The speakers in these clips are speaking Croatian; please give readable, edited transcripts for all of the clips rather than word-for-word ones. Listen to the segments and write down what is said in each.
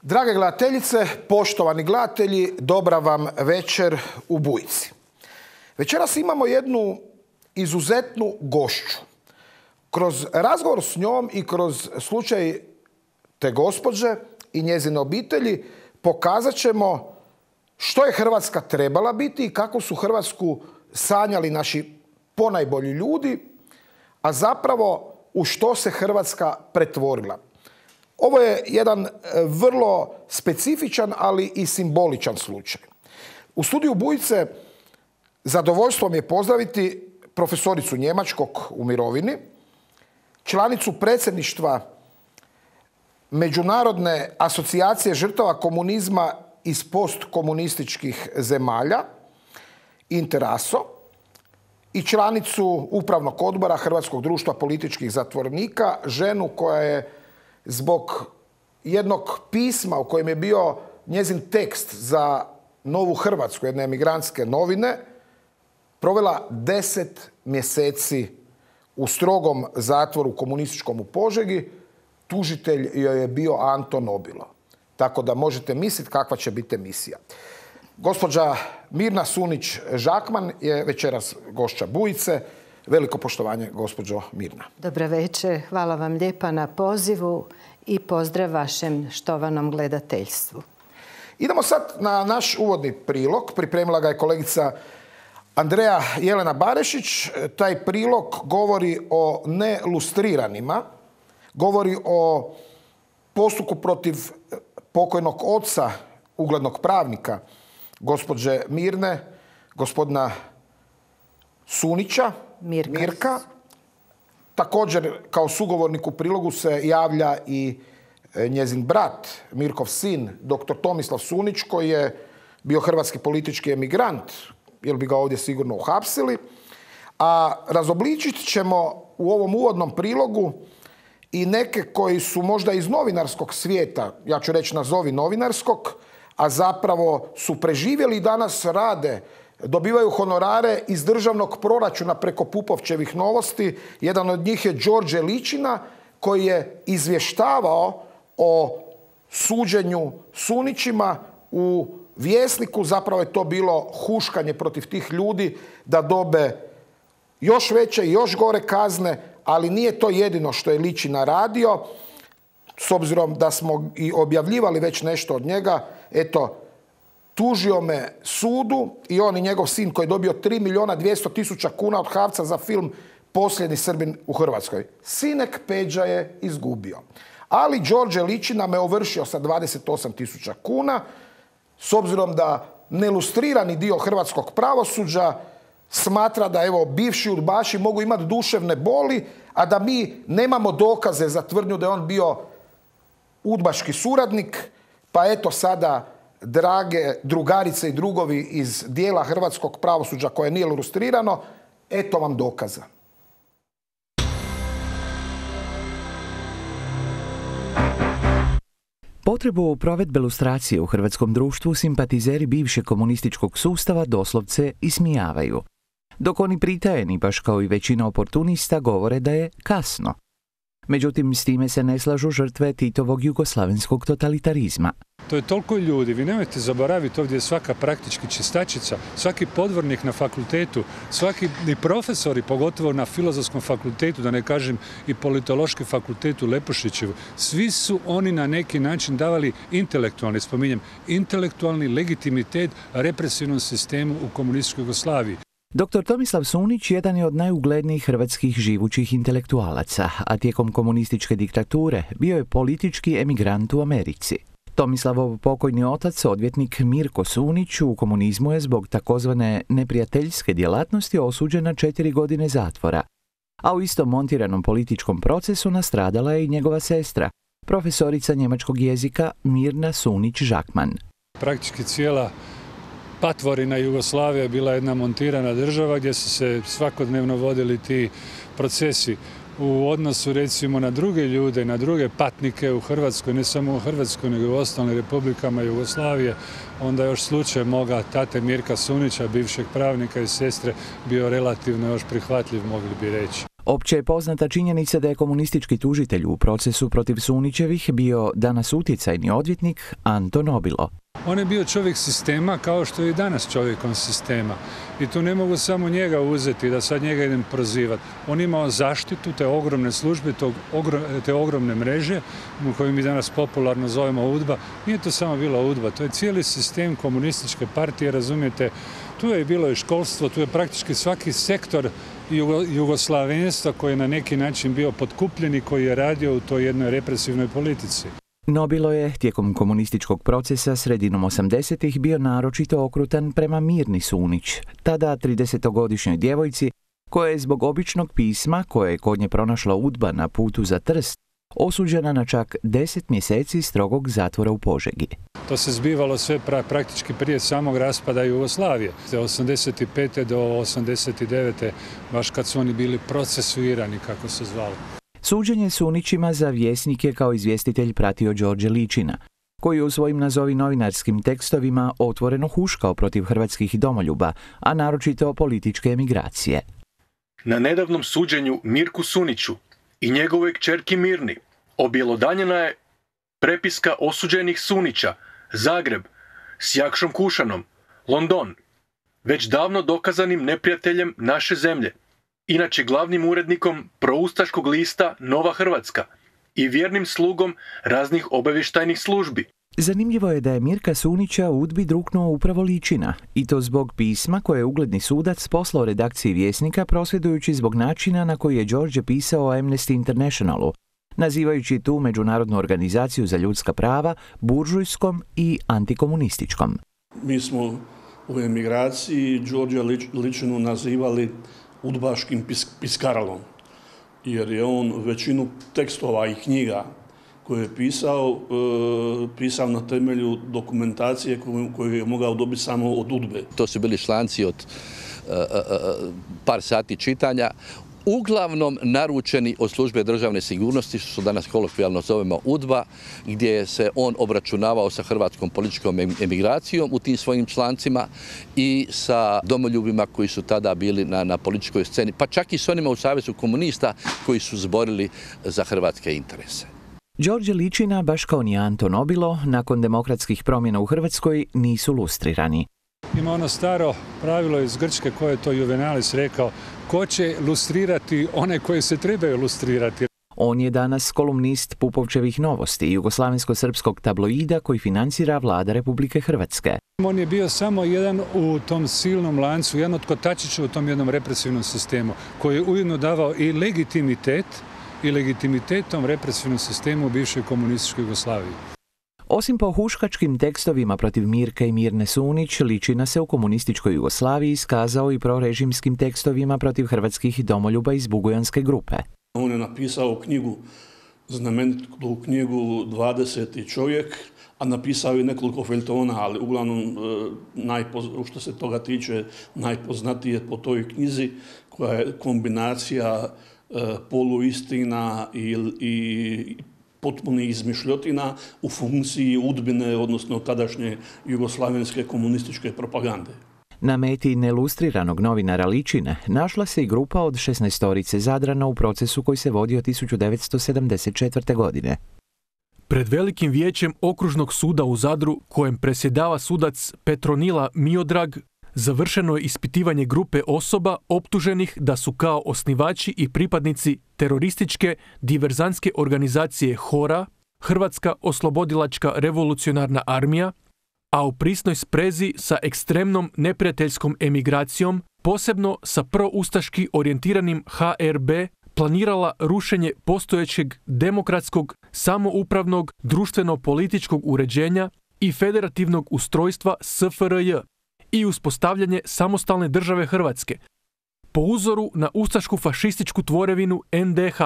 Drage gledateljice, poštovani gledatelji, dobra vam večer u Bujici. Večeras imamo jednu izuzetnu gošću. Kroz razgovor s njom i kroz slučaj te gospođe i njezine obitelji pokazat ćemo što je Hrvatska trebala biti i kako su Hrvatsku sanjali naši ponajbolji ljudi, a zapravo u što se Hrvatska pretvorila. Ovo je jedan vrlo specifičan, ali i simboličan slučaj. U studiju Bujice zadovoljstvo mi je pozdraviti profesoricu njemačkog u mirovini, članicu predsjedništva Međunarodne asocijacije žrtava komunizma iz postkomunističkih zemalja, Interaso, i članicu Upravnog odbora Hrvatskog društva političkih zatvorenika, ženu koja je zbog jednog pisma u kojem je bio njezin tekst za Novu Hrvatsku, jedne emigrantske novine, provela 10 mjeseci u strogom zatvoru komunističkom u Požegi. Tužitelj joj je bio Anto Nobilo. Tako da možete misliti kakva će biti emisija. Gospođa Mirna Sunić-Žakman je večeras gošća Bujice. Veliko poštovanje, gospođo Mirna. Dobra večer, hvala vam lijepa na pozivu i pozdrav vašem štovanom gledateljstvu. Idemo sad na naš uvodni prilog. Pripremila ga je kolegica Andreja Jelena Barešić. Taj prilog govori o nelustriranima, govori o postupku protiv pokojnog oca, uglednog pravnika, gospođe Mirne, gospodina Sunića, Mirka. Također, kao sugovornik u prilogu se javlja i njezin brat, Mirkov sin, dr. Tomislav Sunić, koji je bio hrvatski politički emigrant, jer bi ga ovdje sigurno uhapsili. A razobličit ćemo u ovom uvodnom prilogu i neke koji su možda iz novinarskog svijeta, ja ću reći nazovi novinarskog, a zapravo su preživjeli i danas rade, dobivaju honorare iz državnog proračuna preko Pupovčevih novosti. Jedan od njih je Đorđe Ličina, koji je izvještavao o suđenju Sunićima u Vjesniku. Zapravo je to bilo huškanje protiv tih ljudi da dobe još veće i još gore kazne, ali nije to jedino što je Ličina radio. S obzirom da smo i objavljivali već nešto od njega, eto, tužio me sudu i on i njegov sin koji je dobio 3.200.000 kuna od HAVC-a za film Posljednji Srbin u Hrvatskoj. Sinek Peđa je izgubio. Ali Đorđe Ličina me ovršio sa 28.000 kuna, s obzirom da nelustrirani dio hrvatskog pravosuđa smatra da evo bivši udbaši mogu imati duševne boli, a da mi nemamo dokaze za tvrdnju da je on bio udbaški suradnik, pa eto sada, drage drugarice i drugovi iz dijela hrvatskog pravosuđa koje nije lustrirano, eto vam dokaza. Potrebu provedbe lustracije u hrvatskom društvu simpatizeri bivšeg komunističkog sustava doslovce ismijavaju. Dok oni pritajeni, baš kao i većina oportunista, govore da je kasno. Međutim, s time se ne slažu žrtve Titovog jugoslavenskog totalitarizma. To je toliko ljudi, vi nemojte zaboraviti, ovdje je svaka praktički čistačica, svaki podvornik na fakultetu, svaki i profesori, pogotovo na Filozofskom fakultetu, da ne kažem i Politološki fakultet u Lepošićevu, svi su oni na neki način davali intelektualni, spominjem, intelektualni legitimitet represivnom sistemu u komunističkoj Jugoslaviji. Dr. Tomislav Sunić jedan je od najuglednijih hrvatskih živućih intelektualaca, a tijekom komunističke diktature bio je politički emigrant u Americi. Tomislavov pokojni otac, odvjetnik Mirko Sunić, u komunizmu je zbog takozvane neprijateljske djelatnosti osuđen na 4 godine zatvora, a u istom montiranom političkom procesu nastradala je i njegova sestra, profesorica njemačkog jezika Mirna Sunić-Žakman. Praktički cijela patvorina Jugoslavija je bila jedna montirana država gdje su se svakodnevno vodili ti procesi u odnosu recimo na druge ljude, na druge patnike u Hrvatskoj, ne samo u Hrvatskoj nego i u ostalim republikama Jugoslavije. Onda još slučaj moga tate Mirka Sunića, bivšeg pravnika i sestre, bio relativno još prihvatljiv, mogli bi reći. Opće je poznata činjenica da je komunistički tužitelj u procesu protiv Sunićevih bio danas utjecajni odvjetnik Anto Nobilo. On je bio čovjek sistema kao što je i danas čovjekom sistema. I tu ne mogu samo njega uzeti da sad njega idem prozivati. On imao zaštitu te ogromne službe, te ogromne mreže koju mi danas popularno zovemo UDBA. Nije to samo bila UDBA, to je cijeli sistem komunističke partije, razumijete. Tu je bilo i školstvo, tu je praktički svaki sektor jugoslavenstva koji je na neki način bio potkupljen i koji je radio u toj jednoj represivnoj politici. Nobilo je tijekom komunističkog procesa sredinom 80-ih bio naročito okrutan prema Mirni Sunić, tada 30-godišnjoj djevojci koja je zbog običnog pisma koje je kod nje pronašla UDBA na putu za Trst osuđena na čak 10 mjeseci strogog zatvora u Požegi. To se zbivalo sve praktički prije samog raspada Jugoslavije. Od 85. do 89. baš kad su oni bili procesuirani, kako se zvalo. Suđenje Sunićima za Vjesnik je kao izvjestitelj pratio Đorđe Ličina, koji je u svojim nazovi novinarskim tekstovima otvoreno huškao protiv hrvatskih domoljuba, a naročito političke emigracije. Na nedavnom suđenju Mirku Suniću i njegovoj kćerki Mirni objelodanjena je prepiska osuđenih Sunića, Zagreb, s Jakšom Kušanom, London, već davno dokazanim neprijateljem naše zemlje, inače glavnim urednikom proustaškog lista Nova Hrvatska i vjernim slugom raznih obavještajnih službi. Zanimljivo je da je Mirka Sunića u UDBI druknuo upravo Ličina, i to zbog pisma koje je ugledni sudac poslao redakciji Vjesnika prosvjedujući zbog načina na koji je Đorđe pisao o Amnesty Internationalu, nazivajući tu međunarodnu organizaciju za ljudska prava buržujskom i antikomunističkom. Mi smo u emigraciji Đorđa Ličinu nazivali udbaškim piskaralom, jer je on većinu tekstova i knjiga koje je pisao na temelju dokumentacije koju je mogao dobiti samo od UDBE. To su bili članci od par sati čitanja, uglavnom naručeni od službe državne sigurnosti, što danas kolokvijalno zovemo UDBA, gdje se on obračunavao sa hrvatskom političkom emigracijom u tim svojim člancima i sa domoljubima koji su tada bili na političkoj sceni, pa čak i s onima u Savezu komunista koji su zborili za hrvatske interese. Đorđe Ličina, baš kao ni Anto Nobilo, nakon demokratskih promjena u Hrvatskoj nisu lustrirani. Ima ono staro pravilo iz Grčke koje je to Juvenalis rekao, ko će lustrirati one koje se trebaju lustrirati. On je danas kolumnist Pupovčevih novosti, jugoslavensko-srpskog tabloida koji financira vlada Republike Hrvatske. On je bio samo jedan u tom silnom lancu, jedan od kotačića u tom jednom represivnom sistemu, koji je ujedno davao i legitimitetom represivnom sistemu u bivšoj komunističkoj Jugoslaviji. Osim po huškačkim tekstovima protiv Mirke i Mirne Sunić, Ličina se u komunističkoj Jugoslaviji iskazao i prorežimskim tekstovima protiv hrvatskih domoljuba iz Bugojanske grupe. On je napisao knjigu, znamenitu knjigu 20. čovjek, a napisao je nekoliko feljtona, ali uglavnom, što se toga tiče, najpoznatije po toj knjizi, koja je kombinacija poluistina i potpunih izmišljotina u funkciji UDBine, odnosno tadašnje jugoslavenske komunističke propagande. Na meti nelustriranog novinara Ličine našla se i grupa od 16 Zadrana u procesu koji se vodio 1974. godine. Pred velikim vijećem okružnog suda u Zadru, kojem predsjedava sudac Petronila Miodrag, završeno je ispitivanje grupe osoba optuženih da su kao osnivači i pripadnici terorističke diverzantske organizacije HORA, Hrvatska oslobodilačka revolucionarna armija, a u prisnoj sprezi sa ekstremnom neprijateljskom emigracijom, posebno sa proustaški orijentiranim HRB, planirala rušenje postojećeg demokratskog, samoupravnog, društveno-političkog uređenja i federativnog ustrojstva SFRJ i uspostavljanje samostalne države Hrvatske, po uzoru na ustašku fašističku tvorevinu NDH.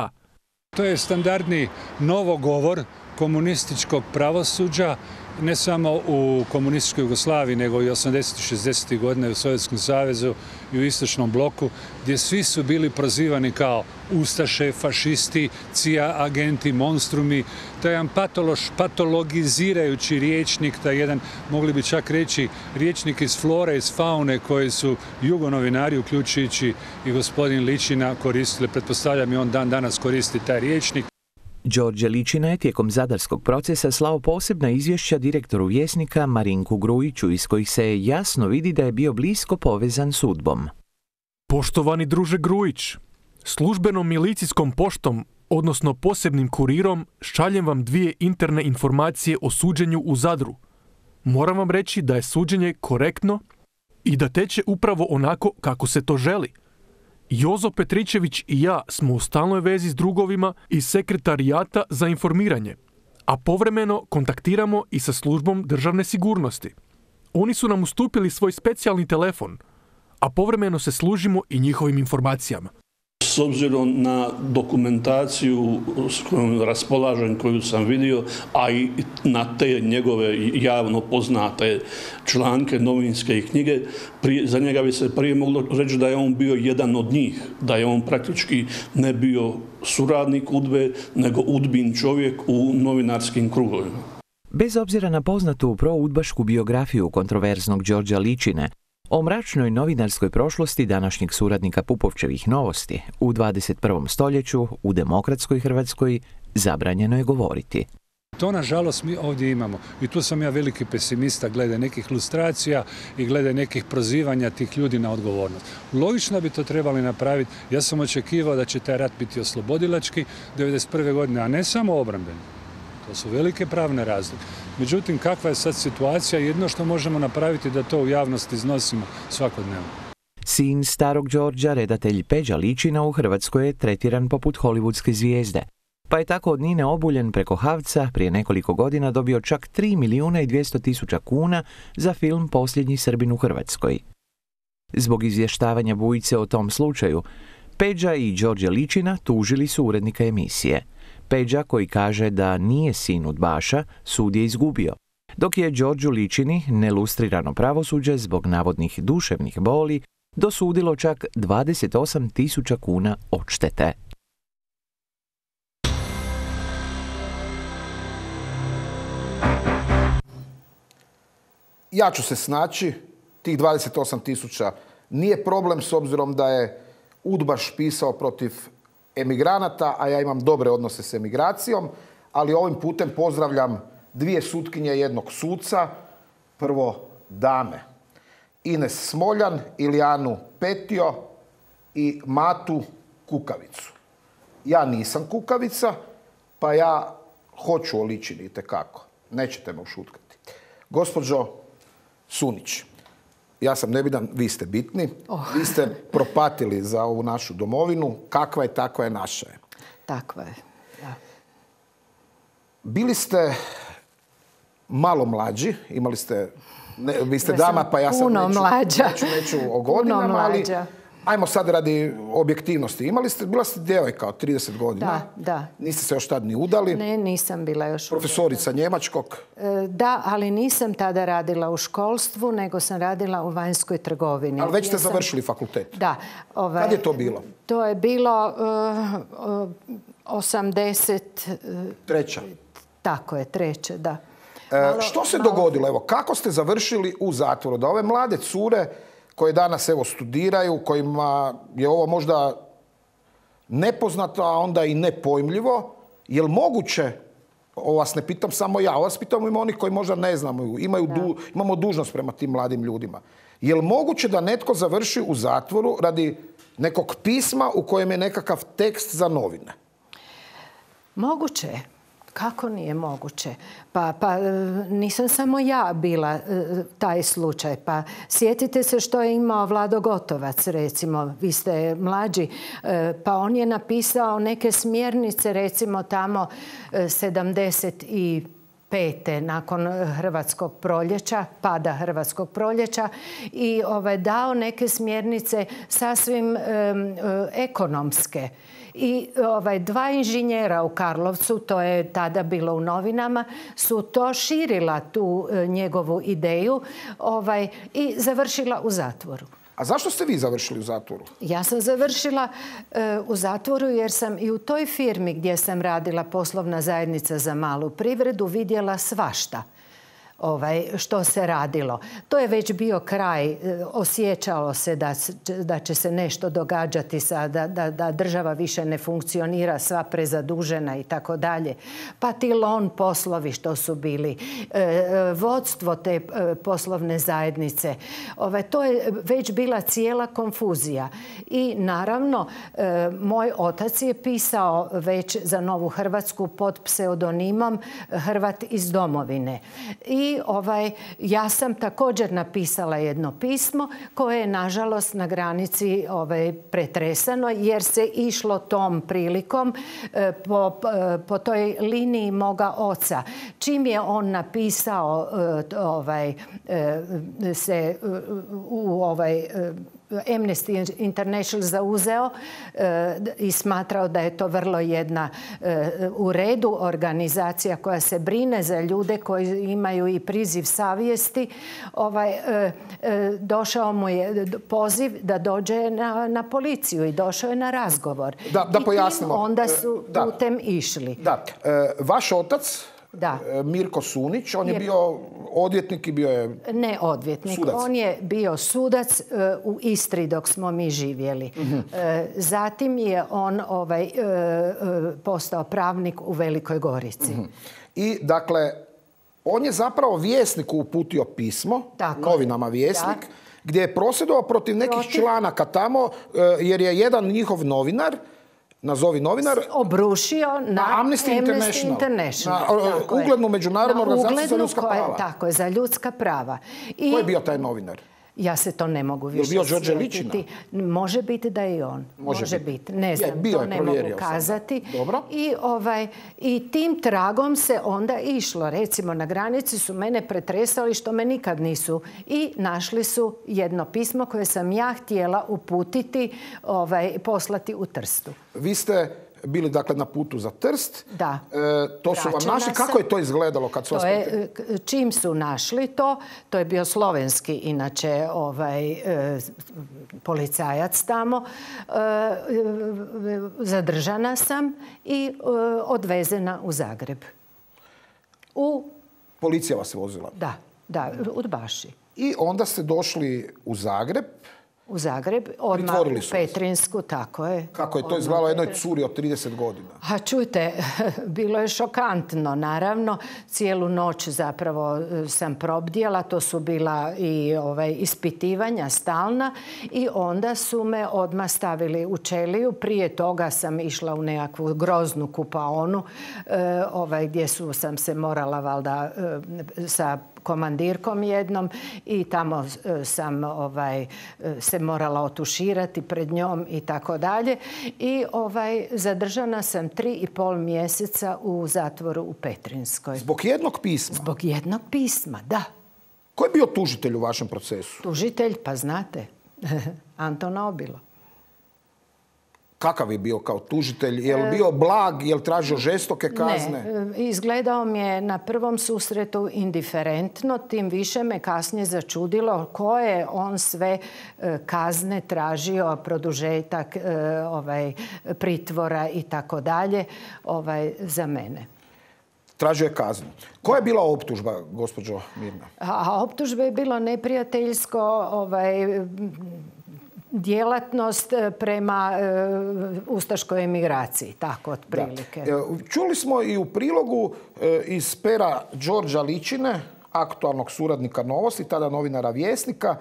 To je standardni novogovor komunističkog pravosuđa ne samo u komunističkoj Jugoslaviji, nego i 80. 60. godina u Sovjetskom savezu i u istočnom bloku, gdje svi su bili prozivani kao ustaše, fašisti, CIA agenti, monstrumi. To je jedan patologizirajući rječnik, taj jedan, mogli bi čak reći, rječnik iz flore, iz faune koje su jugonovinari, uključujući i gospodin Ličina, koristili. Pretpostavljam i on dan danas koristi taj rječnik. Đorđe Ličina je tijekom zadarskog procesa slao posebna izvješća direktoru Vjesnika Marinku Grujiću, iz kojih se jasno vidi da je bio blisko povezan s UDBom. Poštovani druže Grujić, službenom milicijskom poštom, odnosno posebnim kurirom, šaljem vam 2 interne informacije o suđenju u Zadru. Moram vam reći da je suđenje korektno i da teče upravo onako kako se to želi. Jozo Petričević i ja smo u stalnoj vezi s drugovima iz Sekretarijata za informiranje, a povremeno kontaktiramo i sa službom državne sigurnosti. Oni su nam ustupili svoj specijalni telefon, a povremeno se služimo i njihovim informacijama. S obzirom na dokumentaciju s kojom raspolažem, koju sam vidio, a i na te njegove javno poznate članke, novinske i knjige, za njega bi se prije moglo reći da je on bio jedan od njih, da je on praktički ne bio suradnik UDBE, nego UDBin čovjek u novinarskim krugovima. Bez obzira na poznatu proudbašku biografiju kontroverznog Đorđa Ličine, o mračnoj novinarskoj prošlosti današnjeg suradnika Pupovčevih Novosti u 21. stoljeću u demokratskoj Hrvatskoj zabranjeno je govoriti. To, nažalost, mi ovdje imamo. I tu sam ja veliki pesimista glede nekih lustracija i glede nekih prozivanja tih ljudi na odgovornost. Logično bi to trebali napraviti. Ja sam očekivao da će taj rat biti oslobodilački 1991. godine, a ne samo obrambeni. To su velike pravne razlike. Međutim, kakva je sad situacija? Jedno što možemo napraviti da to u javnosti iznosimo svakodnevno. Sin starog Đorđa, redatelj Peđa Ličina, u Hrvatskoj je tretiran poput hollywoodske zvijezde. Pa je tako od Nine Obuljen preko Havca prije nekoliko godina dobio čak 3.200.000 kuna za film Posljednji Srbin u Hrvatskoj. Zbog izvještavanja Bujice o tom slučaju, Peđa i Đorđe Ličina tužili su urednika emisije. Peđa, koji kaže da nije sin udbaša, sud je izgubio, dok je Đorđu Ličini nelustrirano pravosuđe zbog navodnih duševnih boli dosudilo čak 28.000 kuna odštete. Ja ću se snaći, tih 28.000 nije problem s obzirom da je udbaš pisao protiv emigranata, a ja imam dobre odnose s emigracijom, ali ovim putem pozdravljam 2 sutkinje i 1 suca. Prvo dame. Ines Smoljan, Ilijanu Petio i Matu Kukavicu. Ja nisam kukavica, pa ja hoću o Ličini itekako. Nećete me ušutkati. Gospođo Sunić, ja sam nebitan, vi ste bitni. Vi ste propatili za ovu našu domovinu. Kakva je, takva je, naša je. Takva je, da. Bili ste malo mlađi, imali ste, vi ste dama, pa ja sam neću o godinama, ali ajmo sad radi objektivnosti. Bila ste djevojka od 30 godina. Da. Niste se još tad ni udali. Ne, nisam bila još. Profesorica njemačkog. Da, ali nisam tada radila u školstvu, nego sam radila u vanjskoj trgovini. Ali već ste završili fakultet. Da. Kad je to bilo? To je bilo 83. Tako je, 3. da. Što se dogodilo? Evo, kako ste završili u zatvoru? Da ove mlade cure koje danas evo studiraju, kojima je ovo možda nepoznato, a onda i nepojmljivo, je li moguće, ovo vas ne pitam samo ja, ovo vas pitam ima oni koji možda ne znamo, imamo dužnost prema tim mladim ljudima. Je li moguće da netko završi u zatvoru radi nekog pisma u kojem je nekakav tekst za novine? Moguće je. Kako nije moguće? Pa nisam samo ja bila taj slučaj. Pa sjetite se što je imao Vlado Gotovac, recimo. Vi ste mlađi. Pa on je napisao neke smjernice, recimo tamo 75. 1945. nakon Hrvatskog proljeća, pada Hrvatskog proljeća i dao neke smjernice sasvim ekonomske. I dva inženjera u Karlovcu, to je tada bilo u novinama, su to širila tu njegovu ideju i završila u zatvoru. A zašto ste vi završili u zatvoru? Ja sam završila u zatvoru jer sam i u toj firmi gdje sam radila, poslovna zajednica za malu privredu, vidjela svašta što se radilo. To je već bio kraj, osjećalo se da će se nešto događati, da država više ne funkcionira, sva prezadužena i tako dalje. Pa ti lon poslovi što su bili, vodstvo te poslovne zajednice. To je već bila cijela konfuzija. I naravno, moj otac je pisao već za Novu Hrvatsku pod pseudonimom Hrvat iz domovine. I ja sam također napisala jedno pismo koje je nažalost na granici pretresano jer se išlo tom prilikom po toj liniji moga oca. Čim je on napisao se u Amnesty International zauzeo i smatrao da je to vrlo jedna u redu organizacija koja se brine za ljude koji imaju i priziv savjesti. Došao mu je poziv da dođe na policiju i došao je na razgovor. Da pojasnimo. Onda su putem išli. Da. Vaš otac, Mirko Sunić, on je bio odvjetnik i bio je ne odvjetnik, sudac. On je bio sudac u Istri dok smo mi živjeli. Zatim je on postao pravnik u Velikoj Gorici. I dakle, on je zapravo Vjesniku uputio pismo, novinama Vjesnik, gdje je prosvjedovao protiv nekih članaka tamo, jer je jedan njihov novinar, nazovi novinar, obrušio na Amnesty International. Na uglednu međunarodnu organizaciju za ljudska prava. Tako je, za ljudska prava. Ko je bio taj novinar? Ja se to ne mogu više sjetiti. Je bio Đorđe Ličina? Može biti da je i on. Može biti. Ne znam, to ne mogu kazati. Dobro. I tim tragom se onda išlo. Recimo, na granici su mene pretresali što me nikad nisu. I našli su jedno pismo koje sam ja htjela uputiti, poslati u Trstu. Vi ste bili dakle na putu za Trst. Da. To su vam našli. Kako je to izgledalo kad su vas čim su našli to je bio slovenski inače policajac tamo. Zadržana sam i odvezena u Zagreb. Policija vas vozila? Da, udbaši. I onda ste došli u Zagreb. U Zagreb, odmah u Petrinsku, tako je. Kako je to izgledalo jednoj curi od 30 godina? A čujte, bilo je šokantno, naravno. Cijelu noć zapravo sam probdjela, to su bila i ispitivanja stalna i onda su me odmah stavili u ćeliju. Prije toga sam išla u nekakvu groznu kupaonu gdje sam se morala valjda sa komandirkom jednom i tamo sam se morala otuširati pred njom i tako dalje. I zadržana sam 3,5 mjeseca u zatvoru u Petrinskoj. Zbog jednog pisma? Zbog jednog pisma, da. Ko je bio tužitelj u vašem procesu? Tužitelj, pa znate, Anton Obilo. Kakav je bio kao tužitelj? Je li bio blag? Je li tražio žestoke kazne? Ne, izgledao mi je na prvom susretu indiferentno, tim više me kasnije začudilo koje on sve kazne tražio, produžetak pritvora i tako dalje za mene. Tražio je kaznu. Koja je bila optužba, gospođo Mirna? A optužba je bilo neprijateljsko djelatnost prema ustaškoj emigraciji, tako otprilike. Čuli smo i u prilogu iz pera Đorđa Ličine, aktualnog suradnika Novosti, tada novinara Vjesnika.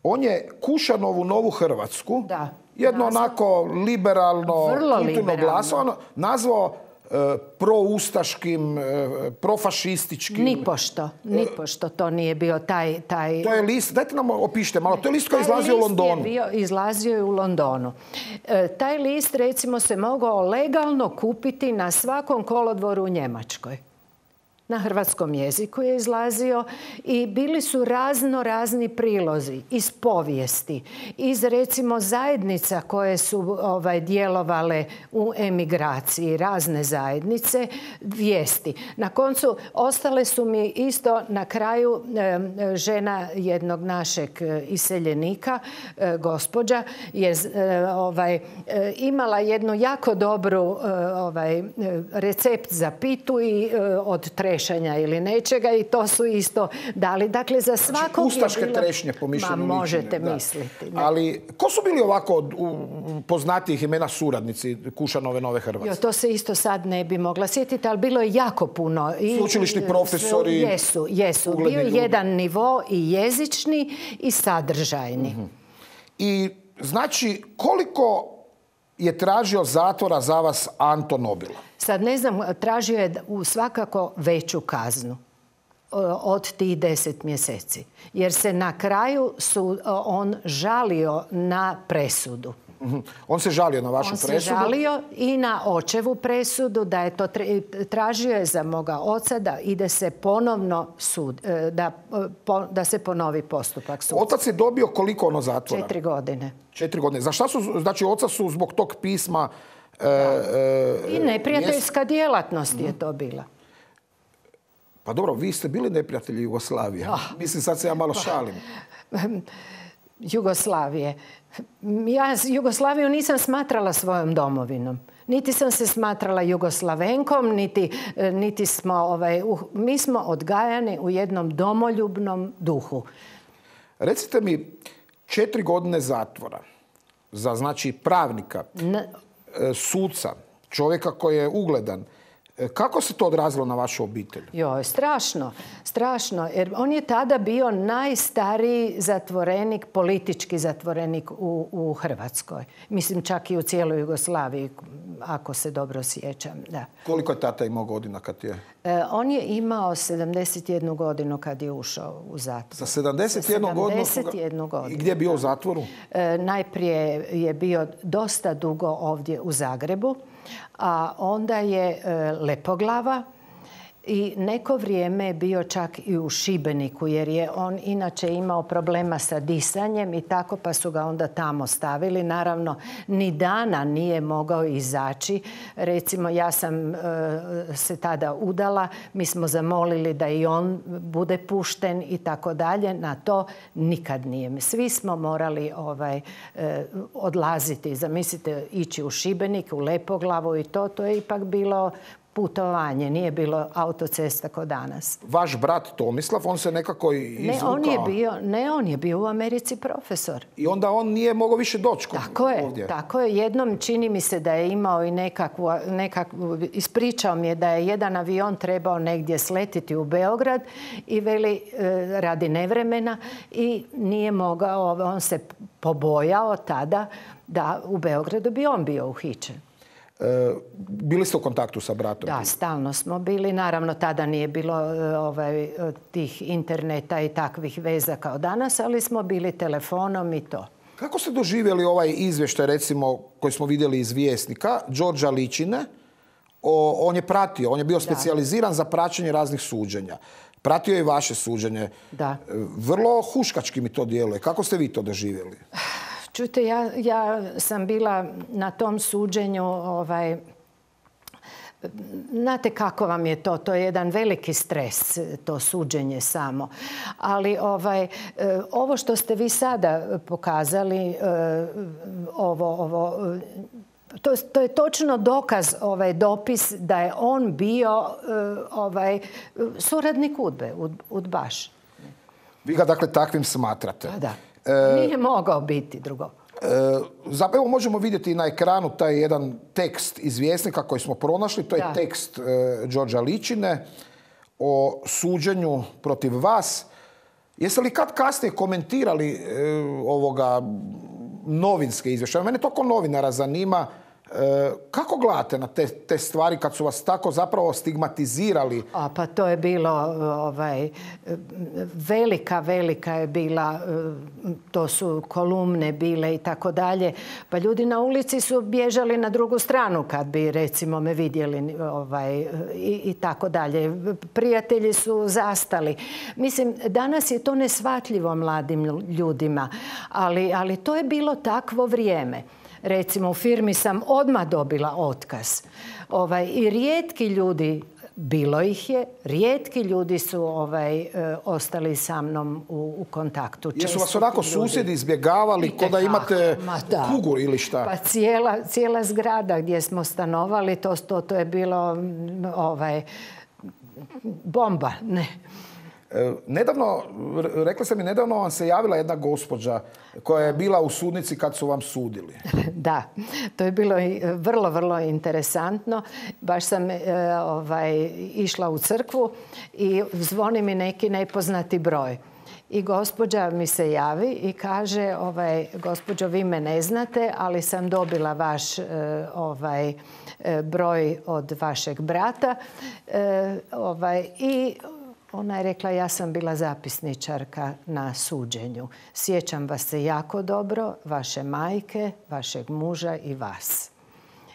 On je Kušanovu Novu Hrvatsku, jedno onako liberalno, kulturno glasovano, nazvao proustaškim, profašističkim. Nipošto to nije bio taj... To je list, dajte nam opišite malo, to je list koji je izlazio u Londonu. Izlazio je u Londonu. Taj list, recimo, se mogao legalno kupiti na svakom kolodvoru u Njemačkoj. Na hrvatskom jeziku je izlazio i bili su razni prilozi iz povijesti, iz recimo zajednica koje su djelovale u emigraciji, razne zajednice, vijesti. Na koncu ostale su mi isto na kraju žena jednog našeg iseljenika, gospođa, je imala jednu jako dobru recept za pitu i od trešanja ili nečega i to su isto dali. Dakle, za svakog ustaške je bilo... trešnje po mišljenju možete misliti. Ne. Ali ko su bili ovako poznatijih imena suradnici Kušanove Nove Hrvatske? To se isto sad ne bi mogla sjetiti, ali bilo je jako puno. Sveučilišni profesori? Jesu. Bio je jedan nivo i jezični i sadržajni. I znači, koliko je tražio zatvora za vas Anto Nobilo? Sad ne znam, tražio je svakako veću kaznu od tih 10 mjeseci. Jer se na kraju on žalio na presudu. On se žalio na vašu presudu? On se žalio i na očevu presudu, da je to tražio je za moga oca da ide se ponovno da se ponovi postupak suda. Otac je dobio koliko ono zatvora? 4 godine. 4 godine. Za šta su, znači oca su zbog tog pisma... I neprijateljska djelatnost je to bila. Pa dobro, vi ste bili neprijatelji Jugoslavije. Mislim, sad se ja malo šalim. Jugoslavije. Ja Jugoslaviju nisam smatrala svojom domovinom. Niti sam se smatrala Jugoslavenkom, niti smo... mi smo odgajani u jednom domoljubnom duhu. Recite mi, 4 godine zatvora za, znači, pravnika, suca, čovjeka koji je ugledan. Kako se to odrazilo na vašu obitelj? Strašno. Jer on je tada bio najstariji zatvorenik, politički zatvorenik u Hrvatskoj. Mislim, čak i u cijeloj Jugoslaviji, ako se dobro sjećam. Da. Koliko je tata imao godina kad je? On je imao 71 godinu kad je ušao u zatvor. Za 71 godinu? I gdje je bio u zatvoru? Najprije je bio dosta dugo ovdje u Zagrebu, a onda je Lepoglava i neko vrijeme je bio čak i u Šibeniku, jer je on inače imao problema sa disanjem i tako, pa su ga onda tamo stavili. Naravno, ni dana nije mogao izaći. Recimo, ja sam se tada udala, mi smo zamolili da i on bude pušten i tako dalje. Na to nikad nije. Svi smo morali odlaziti, zamislite, ići u Šibenik, u Lepoglavu i to je ipak bilo putovanje, nije bilo autocesta kao danas. Vaš brat Tomislav, on se nekako izvukao? On je bio u Americi profesor. I onda on nije mogao više doći ovdje? Tako je. Jednom čini mi se da je imao i nekakvu, ispričao mi je da je jedan avion trebao negdje sletiti u Beograd i veli radi nevremena i nije mogao, on se pobojao tada da u Beogradu bi on bio uhićen. Bili ste u kontaktu sa bratom? Da, stalno smo bili. Naravno, tada nije bilo tih interneta i takvih veza kao danas, ali smo bili telefonom i to. Kako ste doživjeli ovaj izvještaj, recimo, koji smo vidjeli iz Vjesnika, Đorđa Ličine? On je pratio, on je bio specijaliziran za praćenje raznih suđenja. Pratio je i vaše suđenje. Da. Vrlo huškački mi to djeluje. Kako ste vi to doživjeli? Čujte, ja sam bila na tom suđenju, znate kako vam je to? To je jedan veliki stres, to suđenje samo. Ali ovo što ste vi sada pokazali, to je točno dokaz, dopis da je on bio suradnik udbaš. Vi ga dakle takvim smatrate? Da. Nije mogao biti drugo. Evo možemo vidjeti na ekranu taj jedan tekst iz Vjesnika koji smo pronašli. To je tekst Đorđa Ličine o suđenju protiv vas. Jeste li kad kasnije komentirali ovoga novinske izvještaje? Mene to kao novinara zanima. Kako gledate na te stvari kad su vas tako zapravo stigmatizirali? Pa to je bilo velika je bila, to su kolumne bile i tako dalje. Pa ljudi na ulici su bježali na drugu stranu kad bi recimo me vidjeli i tako dalje. Prijatelji su zastali. Mislim, danas je to neshvatljivo mladim ljudima, ali to je bilo takvo vrijeme. Recimo, u firmi sam odmah dobila otkaz. I rijetki ljudi, bilo ih je, rijetki ljudi su ostali sa mnom u kontaktu. Jesu vas onako susjedi izbjegavali ko da imate kugu ili šta? Pa cijela zgrada gdje smo stanovali, to je bilo bomba, ne. Nedavno, rekla sam mi, nedavno vam se javila jedna gospođa koja je bila u sudnici kad su vam sudili. Da, to je bilo vrlo interesantno. Baš sam išla u crkvu i zvoni mi neki nepoznati broj. I gospođa mi se javi i kaže, gospođo, vi me ne znate, ali sam dobila vaš broj od vašeg brata. I ona je rekla, ja sam bila zapisničarka na suđenju. Sjećam vas se jako dobro, vaše majke, vašeg muža i vas.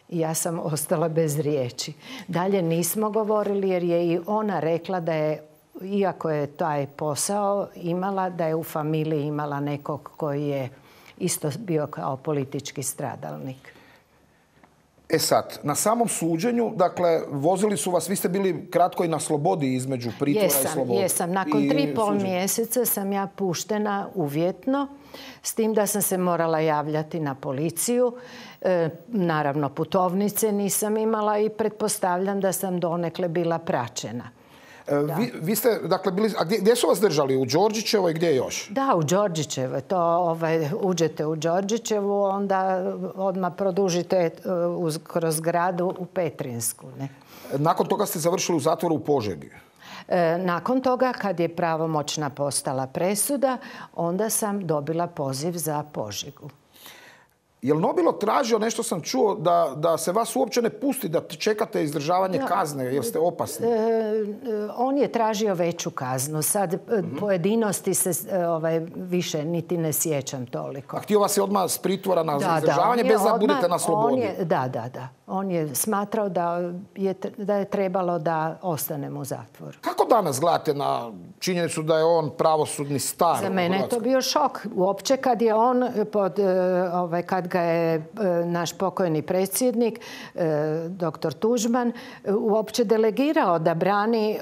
I ja sam ostala bez riječi. Dalje nismo govorili jer je i ona rekla da je, iako je taj posao imala, da je u familiji imala nekog koji je isto bio kao politički stradalnik. Sad, na samom suđenju, dakle, vozili su vas, vi ste bili kratko i na slobodi između pritvora i slobode. Jesam. Nakon 3,5 mjeseca sam ja puštena uvjetno, s tim da sam se morala javljati na policiju. Naravno, putovnice nisam imala i pretpostavljam da sam donekle bila praćena. Vi ste, dakle, bili, a gdje su vas držali? U Đorđićevoj i gdje još? Da, u Đorđićevoj. To uđete u Đorđićevu, onda odmah produžite kroz gradu u Petrinsku. Ne? Nakon toga ste završili u zatvoru u Požegi? Nakon toga, kad je pravomoćna postala presuda, onda sam dobila poziv za Požegu. Je li Nobilo tražio, nešto sam čuo, da se vas uopće ne pusti, da čekate izdržavanje kazne jer ste opasni? On je tražio veću kaznu. Sad pojedinosti se više niti ne sjećam toliko. A htio vas je odmah s pritvora na izdržavanje bez da budete na slobodi? Da. On je smatrao da je trebalo da ostanem u zatvoru. Kako danas gledate na činjenicu da je on pravosudni star? Za mene je to bio šok. Uopće kad je on, kad ga je naš pokojni predsjednik, dr. Tuđman, uopće delegirao da brani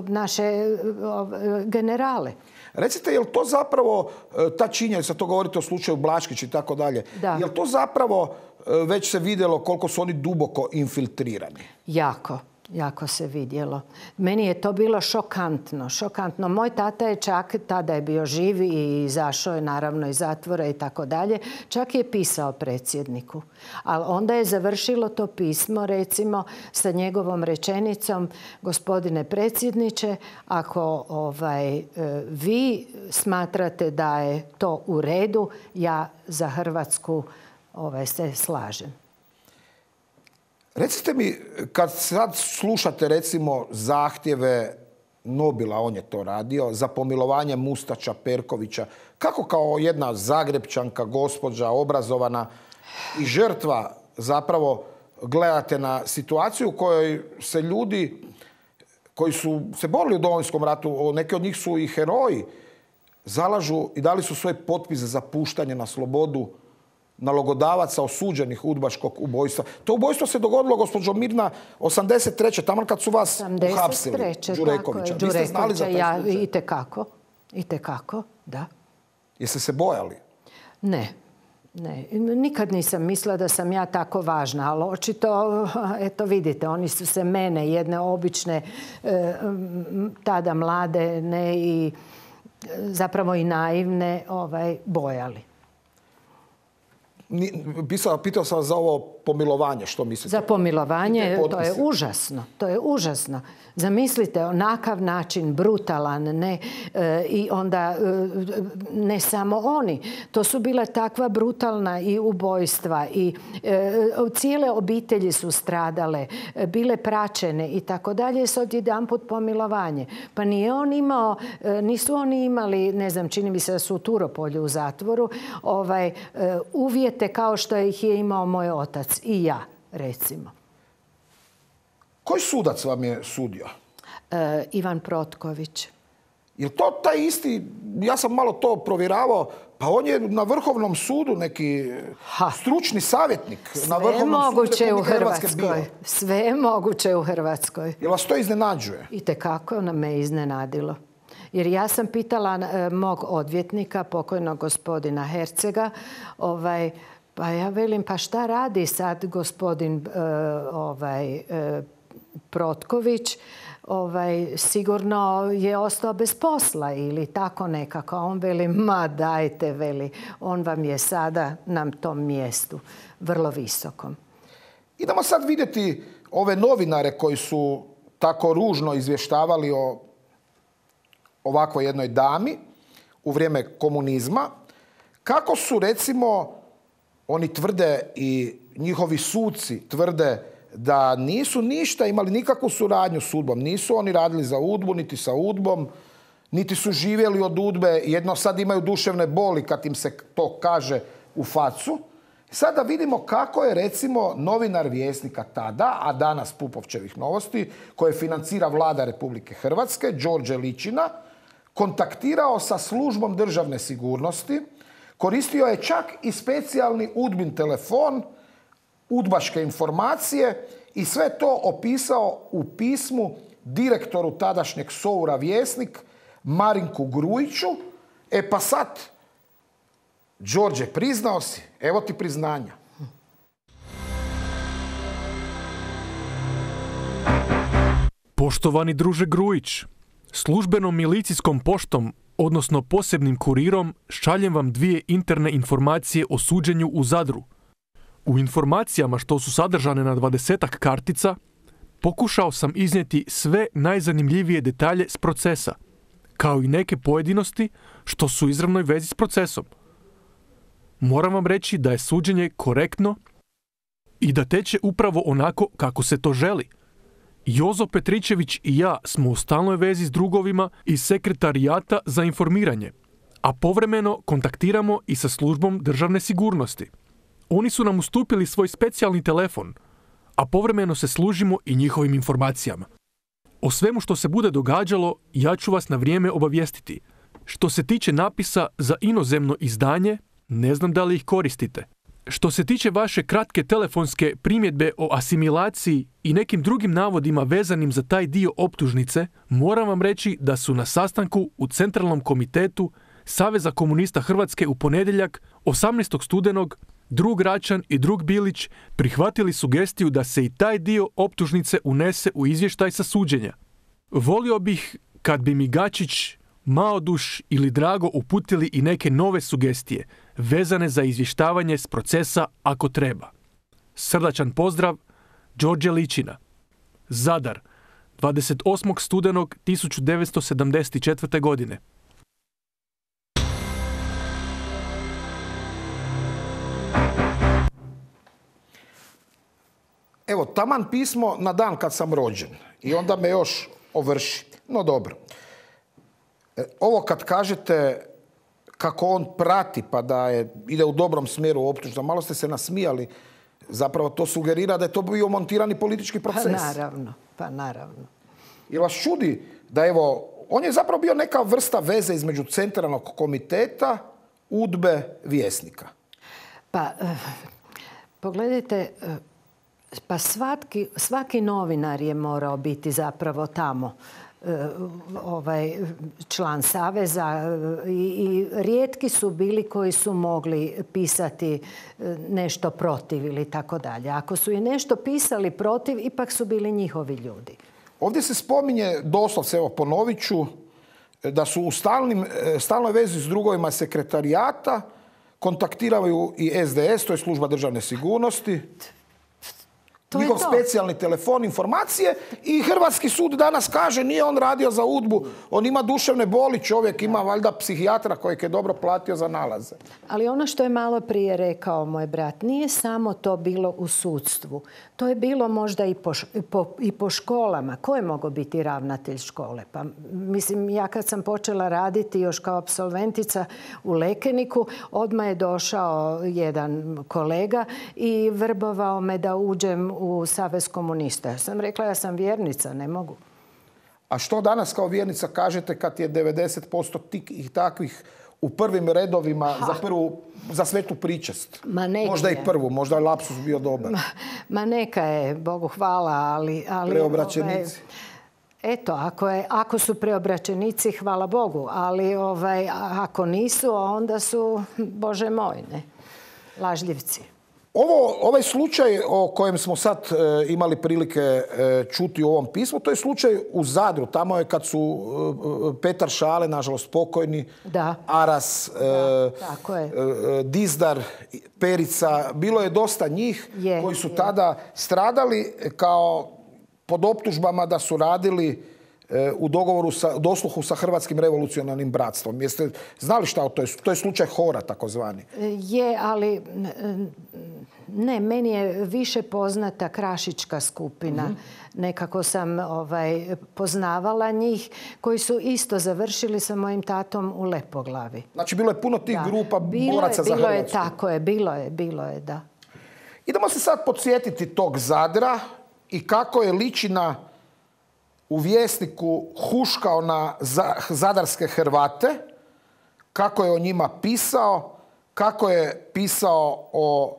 naše generale. Recite, je li to zapravo, ta činjenica, to govorite o slučaju Blaškić i tako dalje, je li to zapravo već se vidjelo koliko su oni duboko infiltrirani? Jako se vidjelo. Meni je to bilo šokantno. Moj tata je čak, tada je bio živ i izašao je naravno iz zatvora i tako dalje, čak je pisao predsjedniku. Ali onda je završilo to pismo, recimo, sa njegovom rečenicom: gospodine predsjedniče, ako vi smatrate da je to u redu, ja za Hrvatsku se slažem. Recite mi, kad sad slušate recimo zahtjeve Nobila, on je to radio, za pomilovanje Mustača, Perkovića, kako kao jedna Zagrepčanka, gospođa, obrazovana i žrtva zapravo gledate na situaciju u kojoj se ljudi koji su se borili u Domovinskom ratu, neki od njih su i heroji, zalažu i dali su svoj potpis za puštanje na slobodu nalogodavaca osuđenih udbaškog ubojstva. To ubojstvo se dogodilo, gospođo Mirna, 83. tamo kad su vas uhapsili. Đurekovića. Vi ste znali za taj slučaj? Itekako, da. Jeste se bojali? Ne. Nikad nisam mislila da sam ja tako važna, ali očito, eto vidite, oni su se mene, jedne obične, tada mlade, ne i zapravo i naivne, bojali. Pitao sam vas za ovo pomilovanje, što mislite? Za pomilovanje, to je užasno. To je užasno. Zamislite, onakav način, brutalan, ne, i onda ne samo oni. To su bila takva brutalna i ubojstva i cijele obitelji su stradale, bile praćene i tako dalje, s odjedanput pomilovanje. Pa nisu oni imali, ne znam, čini mi se da su u Turopolju u zatvoru, uvjete kao što ih je imao moj otac i ja, recimo. Koji sudac vam je sudio? Ivan Protković. Je to taj isti, ja sam malo to provjeravao, pa on je na Vrhovnom sudu neki stručni savjetnik na Vrhovnom sudu Republike Hrvatske bio. Sve je moguće u Hrvatskoj. Jel vas to iznenađuje? Itekako me iznenadilo. Jer ja sam pitala mog odvjetnika, pokojnog gospodina Hercega, pa ja velim, pa šta radi sad gospodin Protković? Sigurno je ostao bez posla ili tako nekako. On veli, ma dajte, veli, on vam je sada na tom mjestu, vrlo visokom. Idemo sad vidjeti ove novinare koji su tako ružno izvještavali o ovakvoj jednoj dami u vrijeme komunizma. Kako su, recimo, oni tvrde i njihovi suci tvrde da nisu ništa imali nikakvu suradnju s UDBom. Nisu oni radili za UDBu, niti sa UDBom, niti su živjeli od UDBe. Jedno sad imaju duševne boli kad im se to kaže u facu. Sada vidimo kako je, recimo, novinar Vjesnika tada, a danas Pupovčevih novosti, koje financira Vlada Republike Hrvatske, Đorđe Ličina, kontaktirao sa službom državne sigurnosti, koristio je čak i specijalni UDBin telefon, udbaške informacije i sve to opisao u pismu direktoru tadašnjeg SOUR-a Vjesnik Marinku Grujiću. Pa sad, Đorđe, priznao si, evo ti priznanja. Poštovani druže Grujić, službenom milicijskom poštom, odnosno posebnim kurirom, šaljem vam 2 interne informacije o suđenju u Zadru. U informacijama što su sadržane na 20-ak kartica, pokušao sam iznijeti sve najzanimljivije detalje s procesa, kao i neke pojedinosti što su u izravnoj vezi s procesom. Moram vam reći da je suđenje korektno i da teče upravo onako kako se to želi. Jozo Petričević i ja smo u stalnoj vezi s drugovima iz Sekretarijata za informiranje, a povremeno kontaktiramo i sa službom državne sigurnosti. Oni su nam ustupili svoj specijalni telefon, a povremeno se služimo i njihovim informacijama. O svemu što se bude događalo, ja ću vas na vrijeme obavijestiti. Što se tiče napisa za inozemno izdanje, ne znam da li ih koristite. Što se tiče vaše kratke telefonske primjedbe o asimilaciji i nekim drugim navodima vezanim za taj dio optužnice, moram vam reći da su na sastanku u Centralnom komitetu Saveza komunista Hrvatske u ponedjeljak 18. studenog drug Račan i drug Bilić prihvatili sugestiju da se i taj dio optužnice unese u izvještaj sa suđenja. Volio bih kad bi mi Gačić, Maoduš ili Drago uputili i neke nove sugestije vezane za izvještavanje s procesa ako treba. Srdačan pozdrav, Đorđe Ličina. Zadar, 28. studenog 1974. godine. Evo, taman pismo na dan kad sam rođen. I onda me još ovrši. No dobro. Ovo kad kažete kako on prati pa da ide u dobrom smjeru optužba, malo ste se nasmijali. Zapravo to sugerira da je to bio montirani politički proces. Pa naravno. Jel vas čudi da evo, on je zapravo bio neka vrsta veze između Centralnog komiteta, UDBe, Vjesnika? Pa, pogledajte, pa svaki novinar je morao biti zapravo tamo član saveza i rijetki su bili koji su mogli pisati nešto protiv ili tako dalje. Ako su i nešto pisali protiv, ipak su bili njihovi ljudi. Ovdje se spominje, doslovce, evo ponovit ću, da su u stalnoj vezi s drugovima Sekretarijata kontaktiraju i SDS, to je služba državne sigurnosti, njihov specijalni telefon, informacije, i Hrvatski sud danas kaže nije on radio za UDBU, on ima duševne boli, čovjek ima valjda psihijatra kojeg je dobro platio za nalaze. Ali ono što je malo prije rekao moj brat, nije samo to bilo u sudstvu. To je bilo možda i po školama. Ko je mogao biti ravnatelj škole? Pa, mislim, ja kad sam počela raditi još kao apsolventica u Lekeniku, odmah je došao jedan kolega i vrbovao me da uđem u Savez komunista. Ja sam rekla, ja sam vjernica, ne mogu. A što danas kao vjernica kažete kad je 90% tih takvih u prvim redovima za svetu pričest? Možda i prvu, možda je lapsus bio dobar. Ma neka je, Bogu hvala, ali preobraćenici. Eto, ako su preobraćenici, hvala Bogu, ali ako nisu, onda su, Bože moj, ne, lažljivci. Ovaj slučaj o kojem smo sad imali prilike čuti u ovom pismu, to je slučaj u Zadru. Tamo je kad su Petar Šale, nažalost pokojni, Aras, Dizdar, Perica, bilo je dosta njih koji su tada stradali kao pod optužbama da su radili u dogovoru, dosluhu sa Hrvatskim revolucionarnim bratstvom. Jeste znali šta to je slučaj Hora takozvani? Je, ali ne, meni je više poznata Krašička skupina. Nekako sam poznavala njih koji su isto završili sa mojim tatom u Lepoglavi. Znači bilo je puno tih grupa boraca za Hrvatsku. Tako je, bilo je, da. Idemo se sad podsjetiti tog Zadra i kako je Ličina u Vjesniku huškao na zadarske Hrvate, kako je o njima pisao, kako je pisao o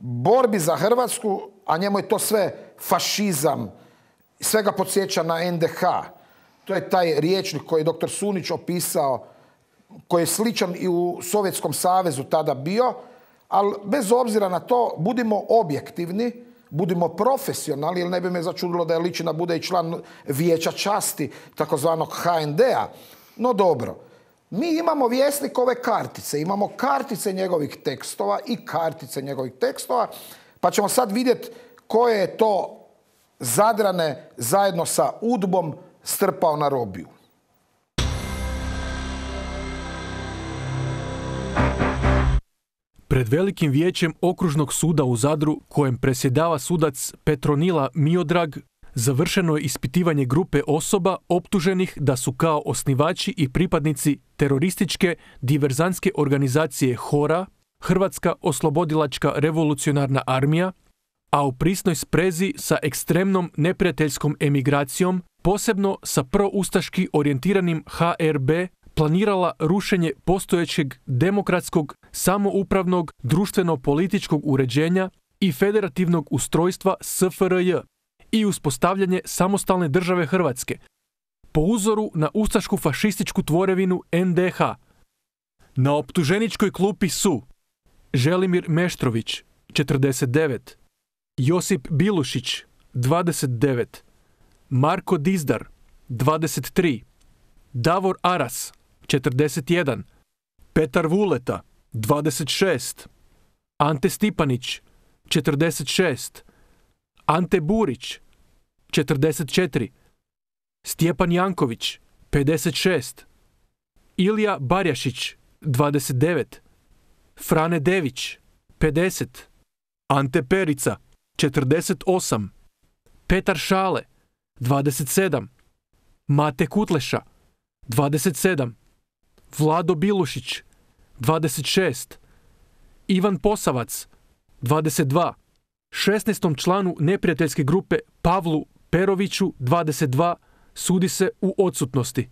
borbi za Hrvatsku, a njemu je to sve fašizam, sve ga podsjeća na NDH. To je taj rječnik koji je dr. Sunić opisao, koji je sličan i u Sovjetskom savezu tada bio, ali bez obzira na to, budimo objektivni, budimo profesionalni, jer ne bi me začudilo da je Ličina bude i član Vijeća časti, takozvanog HND-a. No dobro, mi imamo Vjesnikove kartice, imamo kartice njegovih tekstova i kartice njegovih tekstova, pa ćemo sad vidjeti koje je to Zadrane zajedno sa UDBom strpao na robiju. Pred velikim vijećem okružnog suda u Zadru, kojem predsjedava sudac Petronila Miodrag, završeno je ispitivanje grupe osoba optuženih da su kao osnivači i pripadnici terorističke diverzantske organizacije HORA, Hrvatska oslobodilačka revolucionarna armija, a u prisnoj sprezi sa ekstremnom neprijateljskom emigracijom, posebno sa proustaški orijentiranim HRB, planirala rušenje postojećeg demokratskog, samoupravnog, društveno-političkog uređenja i federativnog ustrojstva SFRJ i uspostavljanje samostalne države Hrvatske, po uzoru na ustašku fašističku tvorevinu NDH. Na optuženičkoj klupi su Želimir Meštrović, 49, Josip Bilušić, 29, Marko Dizdar, 23, Davor Aras, 41, Petar Vuleta, 26, Ante Stipanić, 46, Ante Burić, 44, Stjepan Janković, 56, Ilija Barjašić, 29, Frane Dević, 50, Ante Perica, 48, Petar Šale, 27, Mate Kutleša, 27, Vlado Bilušić, 26, Ivan Posavac, 22, 16. članu neprijateljske grupe Pavlu Peroviću, 22, sudi se u odsutnosti.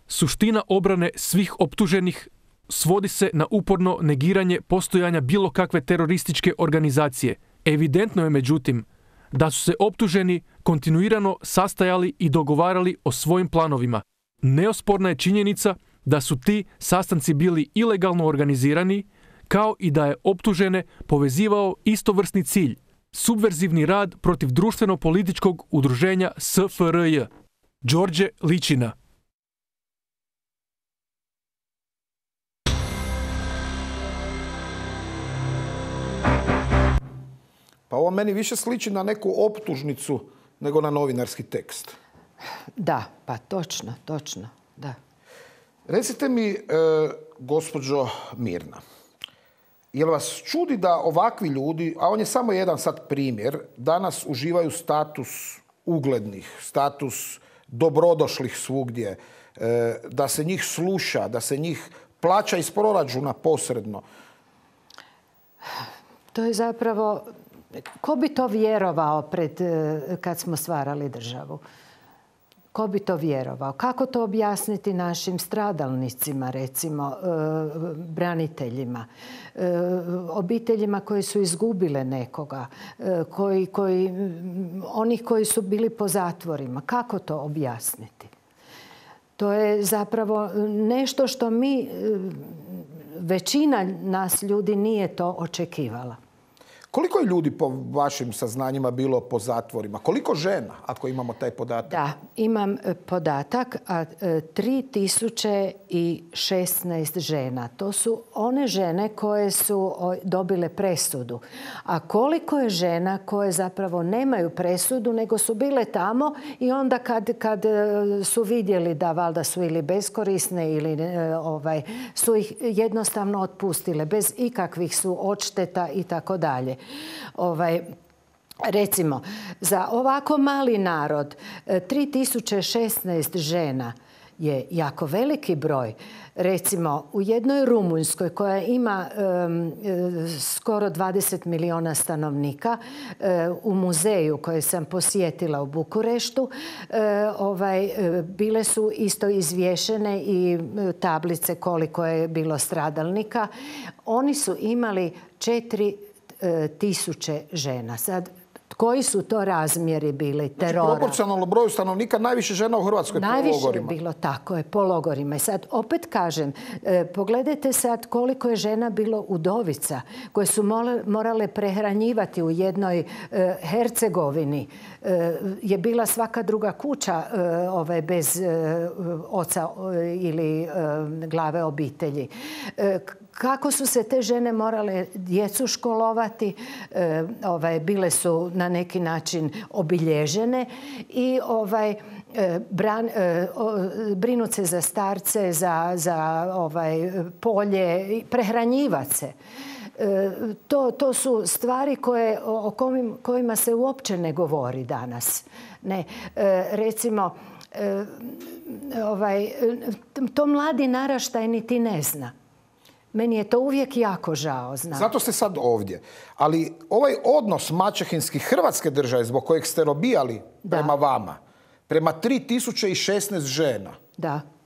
Suština obrane svih optuženih svodi se na uporno negiranje postojanja bilo kakve terorističke organizacije. Evidentno je, međutim, da su se optuženi kontinuirano sastajali i dogovarali o svojim planovima. Neosporna je činjenica da su ti sastanci bili ilegalno organizirani, kao i da je optužene povezivao istovrsni cilj, subverzivni rad protiv društveno-političkog udruženja SFRJ. Đorđe Ličina. Ovo meni više sliči na neku optužnicu nego na novinarski tekst. Da, pa točno, da. Recite mi, gospođo Mirna, jel vas čudi da ovakvi ljudi, a on je samo jedan sad primjer, danas uživaju status uglednih, status dobrodošlih svugdje, da se njih sluša, da se njih plaća iz proračuna posredno? To je zapravo, ko bi to vjerovao kad smo stvarali državu? Ko bi to vjerovao? Kako to objasniti našim stradalnicima, recimo, braniteljima, obiteljima koji su izgubile nekoga, onih koji su bili po zatvorima? Kako to objasniti? To je zapravo nešto što većina nas ljudi nije to očekivala. Koliko je ljudi po vašim saznanjima bilo po zatvorima? Koliko žena, ako imamo taj podatak? Da, imam podatak, 3016 žena. To su one žene koje su dobile presudu. A koliko je žena koje zapravo nemaju presudu, nego su bile tamo i onda kad su vidjeli da valjda su ili beskorisne ili su ih jednostavno otpustile bez ikakvih su odšteta i tako dalje. Recimo, za ovako mali narod 3016 žena je jako veliki broj. Recimo, u jednoj Rumunjskoj koja ima skoro 20 milijuna stanovnika, u muzeju koji sam posjetila u Bukureštu, bile su isto izvješene i tablice koliko je bilo stradalnika. Oni su imali 4000 žena. Sad, koji su to razmjeri bili terora? Znači, proporcionalno broju stanovnika najviše žena u Hrvatskoj po logorima. Najviše je bilo tako, po logorima. I sad, opet kažem, pogledajte sad koliko je žena bilo udovica koje su morale prehranjivati u jednoj Hercegovini. Je bila svaka druga kuća bez oca ili glave obitelji. Kako su se te žene morale djecu školovati, bile su na neki način obilježene i brinut se za starce, za polje, prehranjivati se. To su stvari o kojima se uopće ne govori danas. Ne, recimo, to mladi naraštaj niti ne zna. Meni je to uvijek jako žao. Zato ste sad ovdje. Ali ovaj odnos maćehinski Hrvatske države zbog kojeg ste robijali prema vama, prema 3016 žena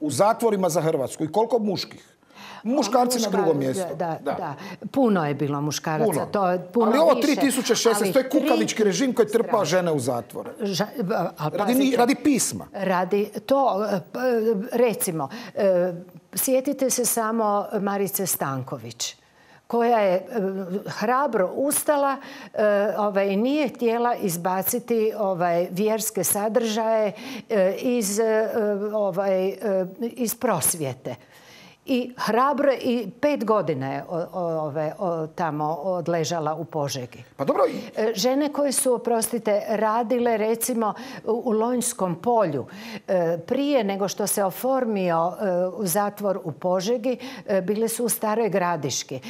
u zatvorima za Hrvatsku i koliko muških? Muškarci na drugom mjestu. Da. Puno je bilo muškaraca. Ali ovo 3016, to je kukavički režim koji trpa žene u zatvore. Radi pisma. Radi to, recimo, sjetite se samo Marice Stanković, koja je hrabro ustala i nije htjela izbaciti vjerske sadržaje iz prosvjete. I hrabro i 5 godina je tamo odležala u Požegi. Pa dobro. Žene koje su, oprostite, radile recimo u Lonjskom polju, prije nego što se oformio zatvor u Požegi, bile su u Staroj Gradiški.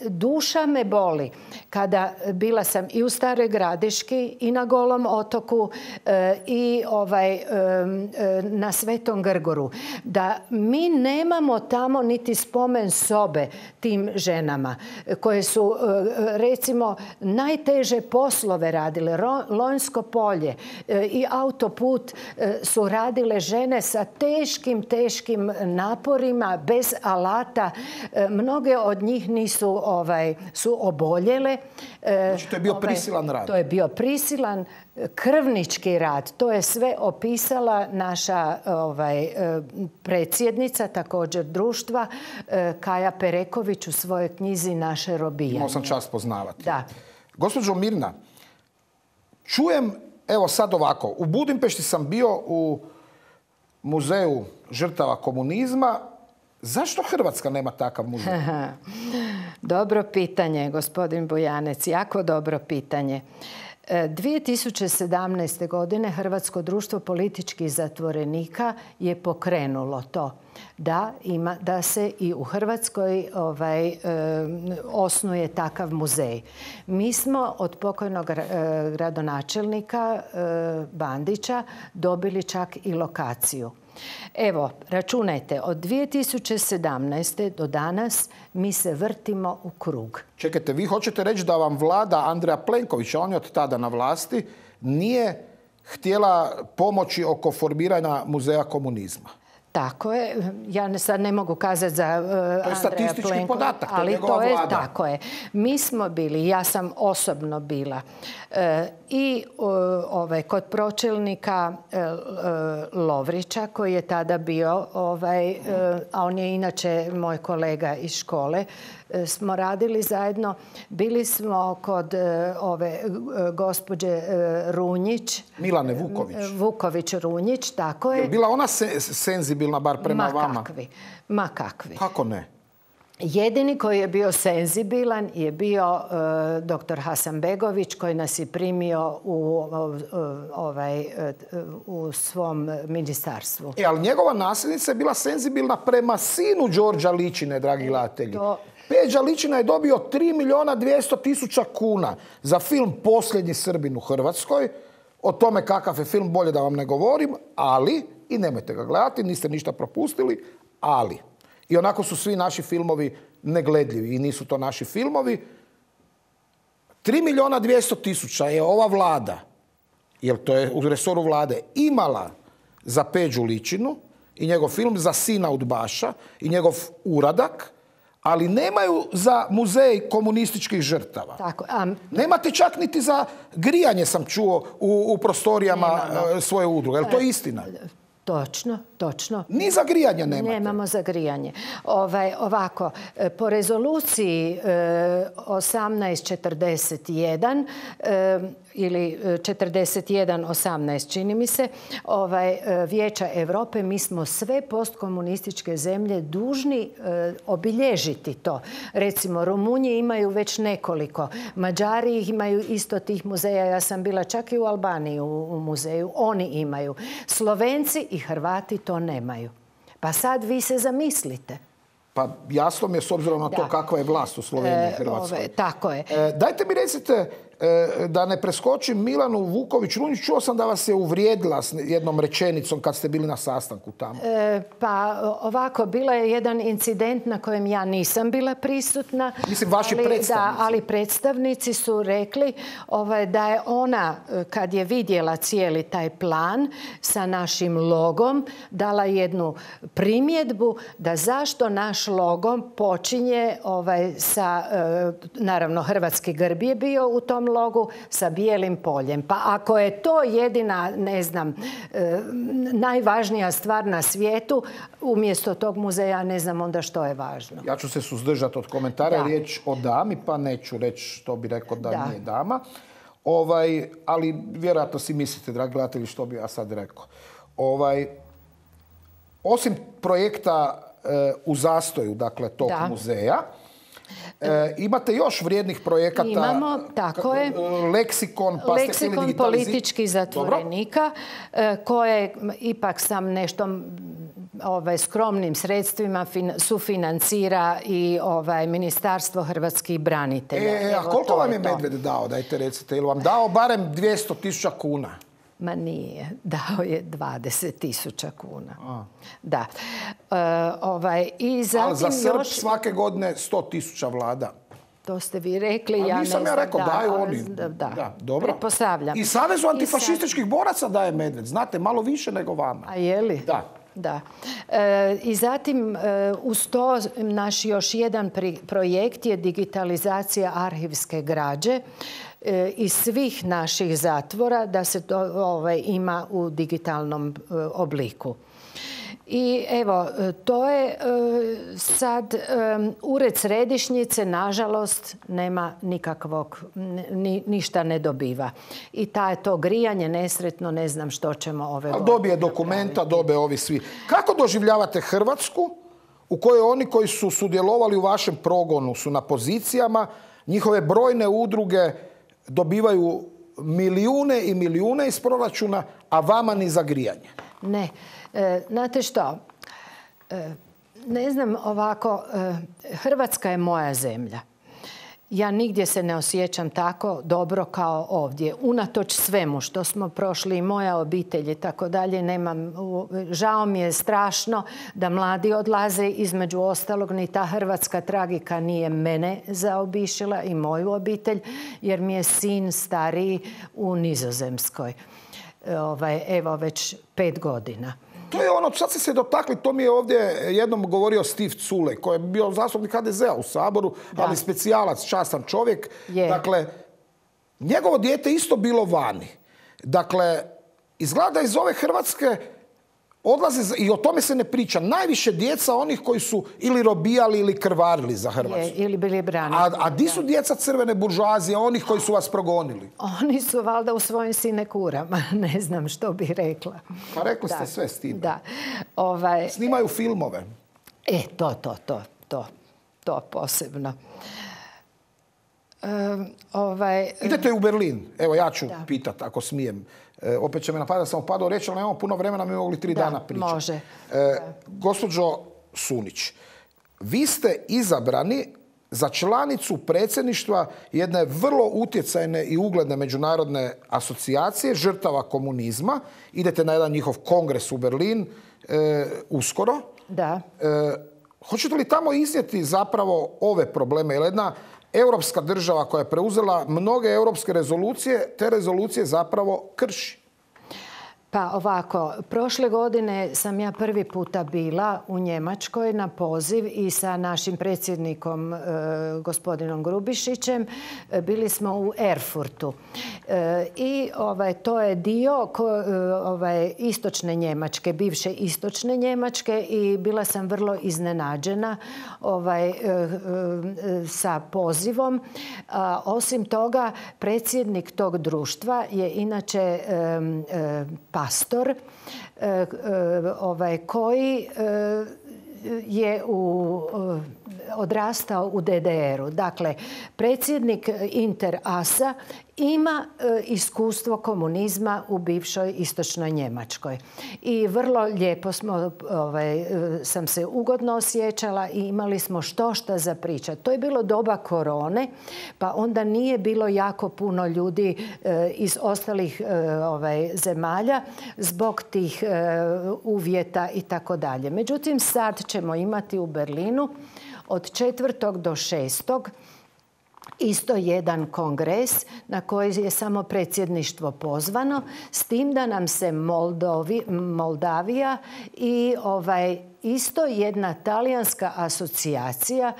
Duša me boli kada bila sam i u Staroj Gradiški i na Golom otoku i na Svetom Grgoru. Da mi nemamo tamo niti spomen sobe tim ženama koje su, recimo, najteže poslove radile. Lonjsko polje i autoput su radile žene sa teškim naporima, bez alata. Mnoge od njih su oboljele. Znači, to je bio prisilan rad. To je bio prisilan krvnički rad. To je sve opisala naša predsjednica, također društva, Kaja Pereković u svojoj knjizi Naše robijanje. Imao sam čast poznavati. Da. Gospođo Mirna, čujem, evo sad ovako, u Budimpešti sam bio u muzeju žrtava komunizma. Zašto Hrvatska nema takav muzej? Dobro pitanje, gospodin Bujanec, jako dobro pitanje. 2017. godine Hrvatsko društvo političkih zatvorenika je pokrenulo to da se i u Hrvatskoj osnuje takav muzej. Mi smo od pokojnog gradonačelnika Bandića dobili čak i lokaciju. Evo, računajte, od 2017. do danas mi se vrtimo u krug. Čekajte, vi hoćete reći da vam vlada Andreja Plenkovića, on je od tada na vlasti, nije htjela pomoći oko formiranja muzeja komunizma? Tako je. Ja sad ne mogu kazati za Andreja Plenkovića. To je statistički podatak, to je njegova vlada. Tako je. Mi smo bili, ja sam osobno bila, i kod pročelnika Lovrića, koji je tada bio, a on je inače moj kolega iz škole, smo radili zajedno. Bili smo kod ove gospođe Runjić. Milane Vuković. Vuković-Runjić, tako je. Je bila ona senzibilna bar prema vama? Ma kakvi. Kako ne? Jedini koji je bio senzibilan je bio dr. Hasanbegović, koji nas je primio u svom ministarstvu. Ali njegova nasljednica je bila senzibilna prema sinu Đorđa Ličine, dragi gledatelji. Peđa Ličina je dobio 3.200.000 kuna za film Posljednji Srbin u Hrvatskoj. O tome kakav je film bolje da vam ne govorim, ali, i nemojte ga gledati, niste ništa propustili, ali. I onako su svi naši filmovi negledljivi i nisu to naši filmovi. 3.200.000 je ova vlada, jer to je u resoru vlade, imala za Peđu Ličinu i njegov film, za sina udbaša i njegov uradak, ali nemaju za muzej komunističkih žrtava. Tako, nemate čak niti za grijanje, sam čuo, u prostorijama svoje udruge. Je li to istina? Točno. Ni za grijanje nemate? Nemamo za grijanje. Ovako, po rezoluciji 1841 ili 41.18, čini mi se, Vijeća Europe, mi smo sve postkomunističke zemlje dužni obilježiti to. Recimo, Rumunji imaju već nekoliko. Mađari imaju isto tih muzeja. Ja sam bila čak i u Albaniji u muzeju. Oni imaju. Slovenci i Hrvati to nemaju. Pa sad vi se zamislite. Pa jasno mi je s obzirom na to kakva je vlast u Sloveniji i Hrvatskoj. Tako je. Dajte mi recite, da ne preskočim Milanu Vuković-Runjić, čuo sam da vas je uvrijedila s jednom rečenicom kad ste bili na sastanku tamo. Pa ovako, bila je jedan incident na kojem ja nisam bila prisutna. Mislim, vaši predstavnici. Da, ali predstavnici su rekli da je ona, kad je vidjela cijeli taj plan sa našim logom, dala jednu primjedbu da zašto naš logom počinje sa, naravno, hrvatski grb je bio u tom logu, sa bijelim poljem. Pa ako je to jedina, ne znam, najvažnija stvar na svijetu, umjesto tog muzeja ne znam onda što je važno. Ja ću se suzdržati od komentara, riječ o dami, pa neću reći što bi rekao da nije dama. Ali vjerojatno si mislite, dragi gledatelji, što bi ja sad rekao. Osim projekta u zastoju, dakle, tog muzeja, imate još vrijednih projekata. Imamo, tako je. Leksikon, pa ste htjeli digitalizirati. Političkih zatvorenika, koje ipak sam nešto skromnim sredstvima sufinancira i Ministarstvo hrvatskih branitelja. A koliko vam je Medved dao, dajte recite? Ili vam dao barem 200.000 kuna? Ma nije. Dao je 20.000 kuna. Da. Ali za Srb svake godine 100.000 vlada. To ste vi rekli, ja ne znam. Nisam ja rekao, daju oni. Da, dobro. Pretpostavljam. I Savezu antifašističkih boraca daje Medved. Znate, malo više nego vama. A je li? Da. I zatim uz to naš još jedan projekt je digitalizacija arhivske građe iz svih naših zatvora, da se to ima u digitalnom obliku. I evo, to je sad ured središnjice, nažalost, nema nikakvog, ništa ne dobiva. I to grijanje nesretno, ne znam što ćemo ove godine. Dobije dokumenta, dobe ovi svi. Kako doživljavate Hrvatsku u kojoj oni koji su sudjelovali u vašem progonu su na pozicijama, njihove brojne udruge dobivaju milijune i milijune iz proračuna, a vama ni za grijanje. Ne. Znate što? Ne znam ovako, Hrvatska je moja zemlja. Ja nigdje se ne osjećam tako dobro kao ovdje. Unatoč svemu što smo prošli i moja obitelj i tako dalje, žao mi je strašno da mladi odlaze, između ostalog ni ta hrvatska tragika nije mene zaobišila i moju obitelj, jer mi je sin stariji u Nizozemskoj. Evo već 5 godina. To je ono, sad ste se dotakli, to mi je ovdje jednom govorio Steve Culej, koji je bio zastupnik HDZ-a u Saboru, ali specijalac, častan čovjek. Dakle, njegovo dijete isto bilo vani. Dakle, izgleda iz ove Hrvatske odlaze, i o tome se ne priča, najviše djeca onih koji su ili robijali ili krvarili za Hrvatsku. Ili bili brani. A di su djeca crvene buržoazije, onih koji su vas progonili? Oni su valjda u svojim sinekurama, ne znam što bih rekla. Pa rekli ste sve s tim. Da. Snimaju filmove. To posebno. Idete u Berlin. Evo, ja ću pitati, ako smijem. Opet će me napadati da sam upadao reći, ali nemamo puno vremena, mi mogli 3 dana pričati. Može. Gospođo Sunić, vi ste izabrani za članicu predsjedništva jedne vrlo utjecajne i ugledne međunarodne asocijacije žrtava komunizma. Idete na jedan njihov kongres u Berlin uskoro. Da. Hoćete li tamo iznijeti zapravo ove probleme? Jer jedna europska država koja je preuzela mnoge europske rezolucije, te rezolucije zapravo krši. Pa ovako, prošle godine sam ja prvi puta bila u Njemačkoj na poziv i sa našim predsjednikom gospodinom Grubišićem. Bili smo u Erfurtu. I to je dio istočne Njemačke, bivše istočne Njemačke, i bila sam vrlo iznenađena sa pozivom. Osim toga, predsjednik tog društva je inače pastor koji je odrastao u DDR-u. Dakle, predsjednik Inter-ASA ima iskustvo komunizma u bivšoj istočnoj Njemačkoj. I vrlo lijepo sam se ugodno osjećala i imali smo štošta za pričati. To je bilo doba korone, pa onda nije bilo jako puno ljudi iz ostalih zemalja zbog tih uvjeta i tako dalje. Međutim, sad ćemo imati u Berlinu od 4. do 6. isto jedan kongres na koji je samo predsjedništvo pozvano, s tim da nam se Moldavija i isto jedna talijanska asocijacija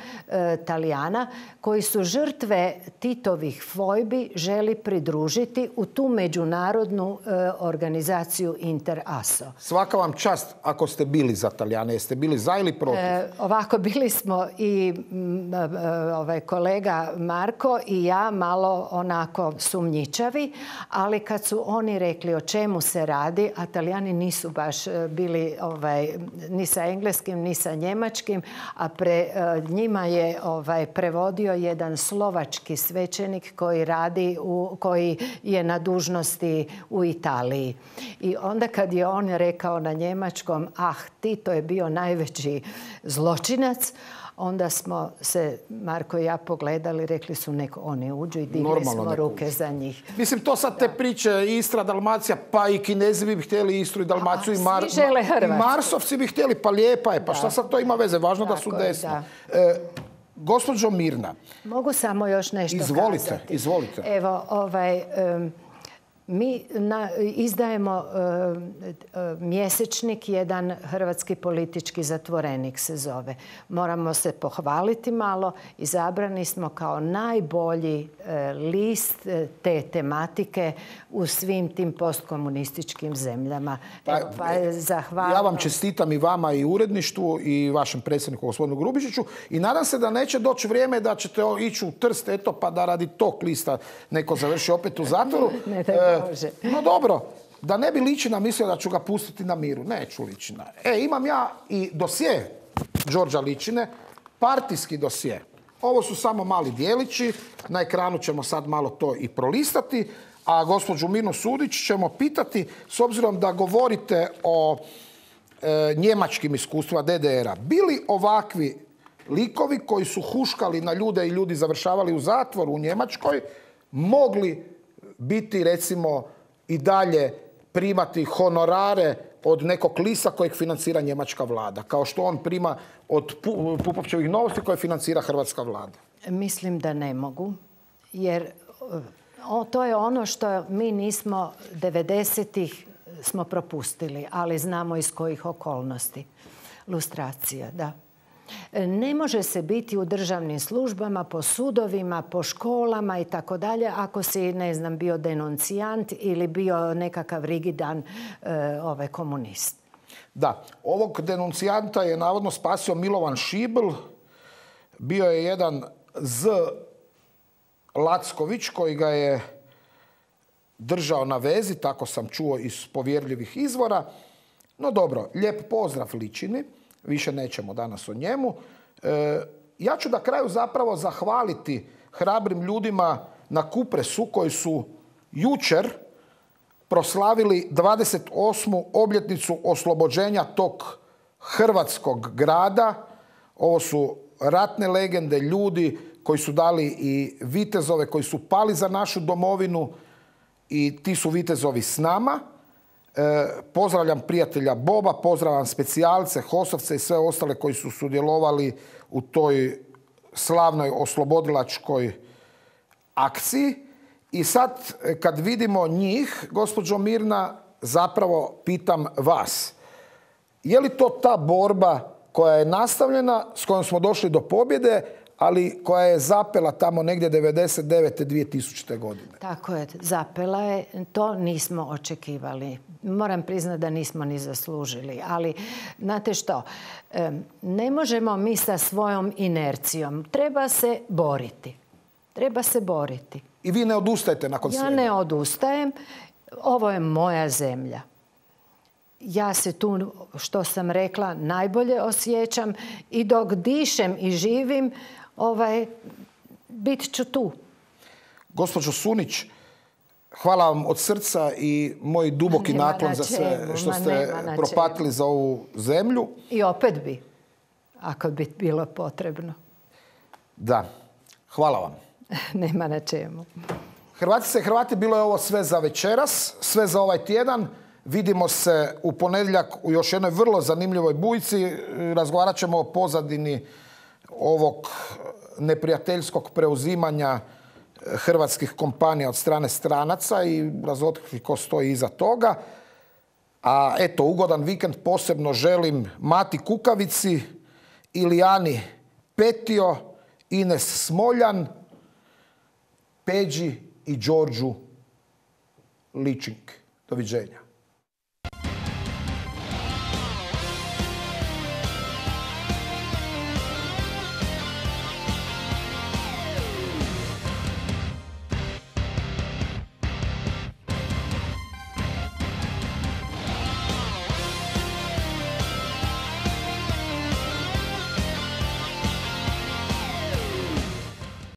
Talijana koji su žrtve Titovih fojbi želi pridružiti u tu međunarodnu organizaciju Inter-ASO. Svaka vam čast ako ste bili za Talijane. Jeste bili za ili protiv? Ovako, bili smo i kolega Marko i ja malo onako sumnjičavi, ali kad su oni rekli o čemu se radi, a Talijani nisu baš bili ni sa engleskim ni sa njemačkim, a njima je prevodio jedan slovački svećenik koji je na dužnosti u Italiji. I onda kad je on rekao na njemačkom, Tito je bio najveći zločinac, onda smo se, Marko i ja, pogledali, rekli su nek oni uđu i digli smo ruke za njih. Mislim, to sad te priče Istra, Dalmacija, pa i Kinezi bi htjeli Istru i Dalmaciju, i Marsovci bi htjeli, pa lijepa je, pa šta sad to ima veze, važno da su desno. Gospođo Mirna. Mogu samo još nešto kazati? Izvolite. Evo, mi izdajemo mjesečnik, jedan hrvatski politički zatvorenik se zove. Moramo se pohvaliti malo. Izabrani smo kao najbolji list te tematike u svim tim postkomunističkim zemljama. Ja vam čestitam, i vama i uredništvu i vašem predsjedniku gospodinu Grubišiću, i nadam se da neće doći vrijeme da ćete ići u Trst, pa da radi tog lista neko završi opet u zatvoru. No dobro, da ne bi Ličina mislio da ću ga pustiti na miru. Neću Ličina. Imam ja i dosje Đorđa Ličine, partijski dosje. Ovo su samo mali dijelići, na ekranu ćemo sad malo to i prolistati, a gospođu Mirnu Sudić ćemo pitati, s obzirom da govorite o njemačkim iskustvima DDR-a, bili ovakvi likovi koji su huškali na ljude i ljudi završavali u zatvoru u Njemačkoj, mogli biti recimo i dalje primati honorare od nekog lista kojeg financira njemačka vlada, kao što on prima od Pupovčevih Novosti koje financira hrvatska vlada? Mislim da ne mogu, jer to je ono što mi nismo 90-ih smo propustili, ali znamo iz kojih okolnosti. Lustracija, da. Ne može se biti u državnim službama, po sudovima, po školama i tako dalje, ako si, ne znam, bio denuncijant ili bio nekakav rigidan komunist. Da, ovog denuncijanta je navodno spasio Milovan Šibl. Bio je jedan Z. Lacković koji ga je držao na vezi, tako sam čuo iz povjerljivih izvora. No dobro, lijep pozdrav Ličini. Više nećemo danas o njemu. Ja ću na kraju zapravo zahvaliti hrabrim ljudima na Kupresu koji su jučer proslavili 28. obljetnicu oslobođenja tog hrvatskog grada. Ovo su ratne legende, ljudi koji su dali i vitezove, koji su pali za našu domovinu i ti su vitezovi s nama. Pozdravljam prijatelja Boba, pozdravljam specijalce, Hosovce i sve ostale koji su sudjelovali u toj slavnoj oslobodilačkoj akciji. I sad kad vidimo njih, gospođo Mirna, zapravo pitam vas. Je li to ta borba koja je nastavljena, s kojom smo došli do pobjede, ali koja je zapela tamo negdje 99. 2000. godine? Tako je, zapela je. To nismo očekivali. Moram priznati da nismo ni zaslužili. Ali, znate što, ne možemo mi sa svojom inercijom. Treba se boriti. Treba se boriti. I vi ne odustajete nakon svega? Ja ne odustajem. Ovo je moja zemlja. Ja se tu, što sam rekla, najbolje osjećam i dok dišem i živim, bit ću tu. Gospođo Sunić, hvala vam od srca i moj duboki naklon za sve što ste propatili za ovu zemlju. I opet bi, ako bi bilo potrebno. Da, hvala vam. Nema na čemu. Hrvatice i Hrvati, bilo je ovo sve za večeras, sve za ovaj tjedan. Vidimo se u ponedjeljak u još jednoj vrlo zanimljivoj bujci. Razgovarat ćemo o pozadini ovog neprijateljskog preuzimanja hrvatskih kompanija od strane stranaca i razotkriti ko stoji iza toga. A eto, ugodan vikend posebno želim Mati Kukavici, Ilijani Petio, Ines Smoljan, Peđi i Đorđu Ličink. Doviđenja.